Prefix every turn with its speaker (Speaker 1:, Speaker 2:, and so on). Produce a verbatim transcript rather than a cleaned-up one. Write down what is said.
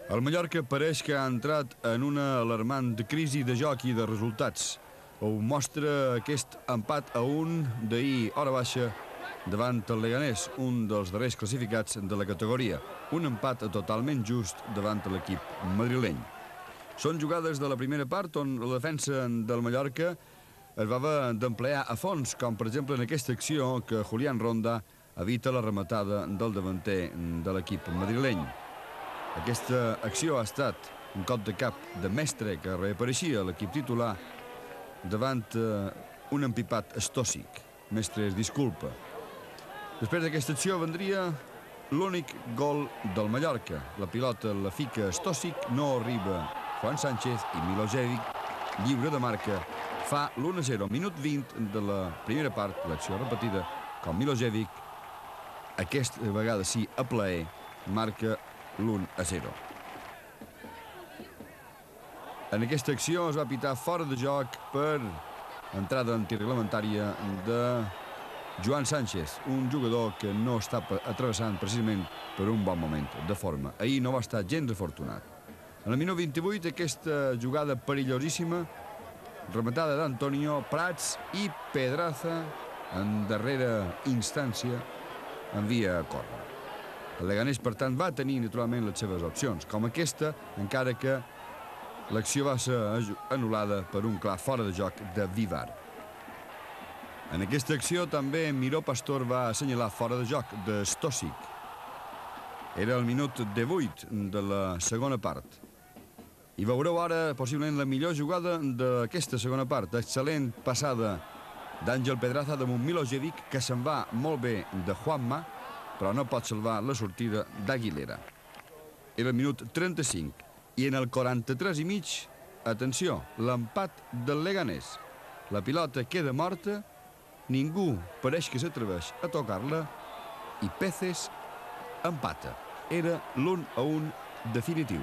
Speaker 1: El Mallorca pareix que ha entrat en una alarmant crisi de joc i de resultats. Ho mostra aquest empat a un d'ahir hora baixa davant el Leganés, un dels darrers classificats de la categoria. Un empat totalment just davant l'equip madrileny. Són jugades de la primera part on la defensa del Mallorca es va haver d'emplear a fons, com per exemple en aquesta acció que Julián Ronda evita la rematada del davanter de l'equip madrileny. Aquesta acció ha estat un cop de cap de Mestre que reapareixia a l'equip titular davant uh, un empipat Stosic. Mestre es disculpa. Després d'aquesta acció vendria l'únic gol del Mallorca. La pilota la fica Stosic, no arriba Juan Sánchez i Milosevic, lliure de marca, fa l'u a zero. Minut vint de la primera part, l'acció repetida, com Milosevic, aquesta vegada sí a plaer, marca l'u a zero. En aquesta acció es va pitar fora de joc per entrada antireglamentària de Juan Sánchez, un jugador que no està atravessant precisament per un bon moment de forma. Ahir no va estar gens afortunat. En el minut vint-i-vuit, aquesta jugada perillosíssima, rematada d'Antonio Prats i Pedraza, en darrera instància, envia a córner. El Leganés, per tant, va tenir naturalment les seves opcions, com aquesta, encara que l'acció va ser anul·lada per un clar fora de joc de Vivar. En aquesta acció també Miró Pastor va assenyalar fora de joc de Stosic. Era el minut divuit de la segona part. I veureu ara possiblement la millor jugada d'aquesta segona part. Excel·lent passada d'Àngel Pedraza damunt Milosevic, que se'n va molt bé de Juanma, però no pot salvar la sortida d'Aguilera. Era el minut trenta-cinc. I en el quaranta-tres i mig, atenció, l'empat del Leganés. La pilota queda morta, ningú pareix que s'atreveix a tocar-la i Peces empata. Era l'un a un definitiu.